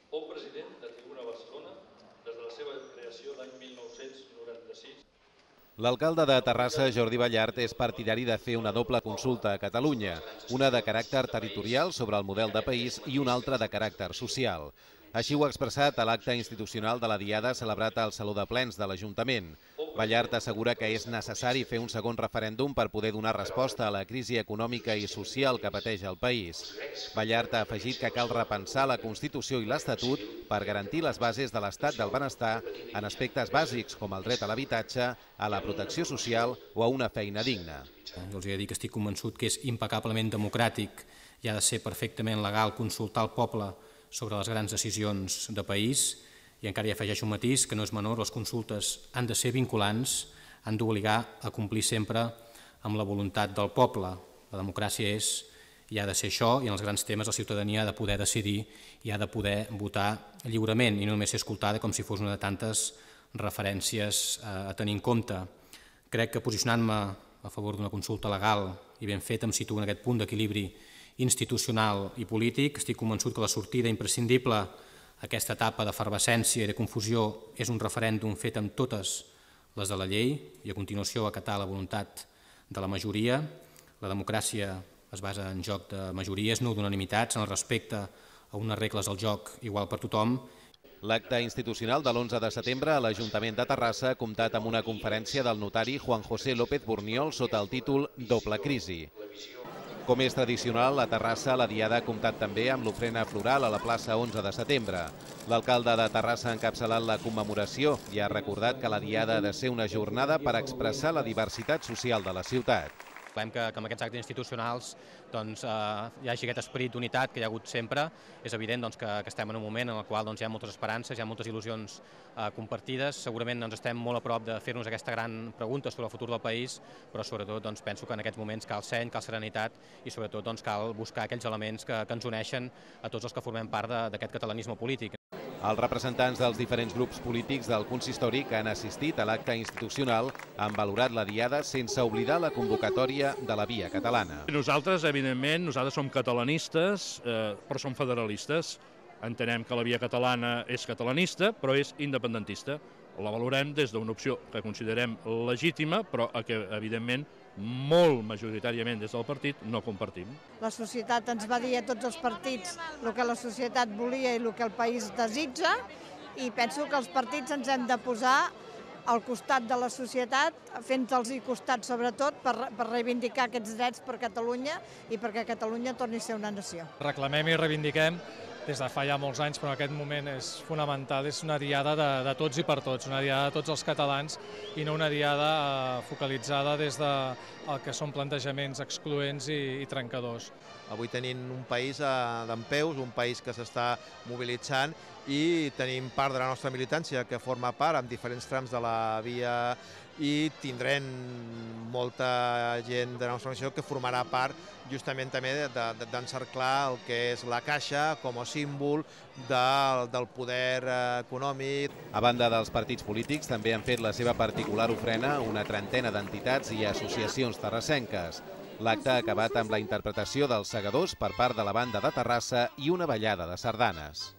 Fou president de Tribuna Barcelona des de la seva creació l'any 1996. L'alcalde de Terrassa, Jordi Ballart, és partidari de fer una doble consulta a Catalunya, una de caràcter territorial sobre el model de país i una altra de caràcter social. Així ho ha expressat a l'acte institucional de la Diada celebrat al Saló de Plens de l'Ajuntament. Ballart assegura que és necessari fer un segon referèndum per poder donar resposta a la crisi econòmica i social que pateix el país. Ballart ha afegit que cal repensar la Constitució i l'Estatut per garantir les bases de l'estat del benestar en aspectes bàsics com el dret a l'habitatge, a la protecció social o a una feina digna. Jo els he de dir que estic convençut que és impecablement democràtic i ha de ser perfectament legal consultar el poble sobre les grans decisions de país, i encara hi afegeixo un matís que no és menor: les consultes han de ser vinculants, han d'obligar a complir sempre amb la voluntat del poble. La democràcia és i ha de ser això, i en els grans temes la ciutadania ha de poder decidir i ha de poder votar lliurement i no només ser escoltada com si fos una de tantes referències a tenir en compte. Crec que posicionant-me a favor d'una consulta legal i ben feta em situo en aquest punt d'equilibri institucional i polític. Estic convençut que la sortida imprescindible a aquesta etapa d'efervescència i de confusió és un referèndum fet amb totes les de la llei i a continuació acatar la voluntat de la majoria. La democràcia es basa en joc de majories, no d'unanimitats, en el respecte a unes regles del joc igual per tothom. L'acte institucional de l'11 de setembre a l'Ajuntament de Terrassa ha comptat amb una conferència del notari Juan José López Burniol sota el títol Doble crisi. Com és tradicional, a Terrassa la Diada ha comptat també amb l'ofrena floral a la plaça 11 de setembre. L'alcalde de Terrassa ha encapçalat la commemoració i ha recordat que la Diada ha de ser una jornada per expressar la diversitat social de la ciutat. Volem que amb aquests actes institucionals hi hagi aquest esperit d'unitat que hi ha hagut sempre. És evident que estem en un moment en el qual hi ha moltes esperances, hi ha moltes il·lusions compartides. Segurament estem molt a prop de fer-nos aquesta gran pregunta sobre el futur del país, però sobretot penso que en aquests moments cal seny, cal serenitat i sobretot cal buscar aquells elements que ens uneixen a tots els que formem part d'aquest catalanisme polític. Els representants dels diferents grups polítics del consistori que han assistit a l'acte institucional han valorat la Diada sense oblidar la convocatòria de la Via Catalana. Nosaltres, evidentment, som catalanistes, però som federalistes. Entenem que la Via Catalana és catalanista, però és independentista. La valorem des d'una opció que considerem legítima, però que, evidentment, molt majoritàriament des del partit no compartim. La societat ens va dir a tots els partits el que la societat volia i el que el país desitja, i penso que els partits ens hem de posar al costat de la societat, fent-los costat sobretot per reivindicar aquests drets per Catalunya i perquè Catalunya torni a ser una nació. Reclamem i reivindiquem des de fa ja molts anys, però en aquest moment és fonamental. És una diada de tots i per tots, una diada de tots els catalans i no una diada focalitzada des del que són plantejaments excloents i trencadors. Avui tenim un país dempeus, un país que s'està mobilitzant i tenim part de la nostra militància que forma part en diferents trams de la via i tindrem molta gent de la nostra organització que formarà part justament també d'encerclar el que és la Caixa com a símbol del poder econòmic. A banda dels partits polítics, també han fet la seva particular ofrena una trentena d'entitats i associacions terrassenques. L'acte ha acabat amb la interpretació dels segadors per part de la banda de Terrassa i una ballada de sardanes.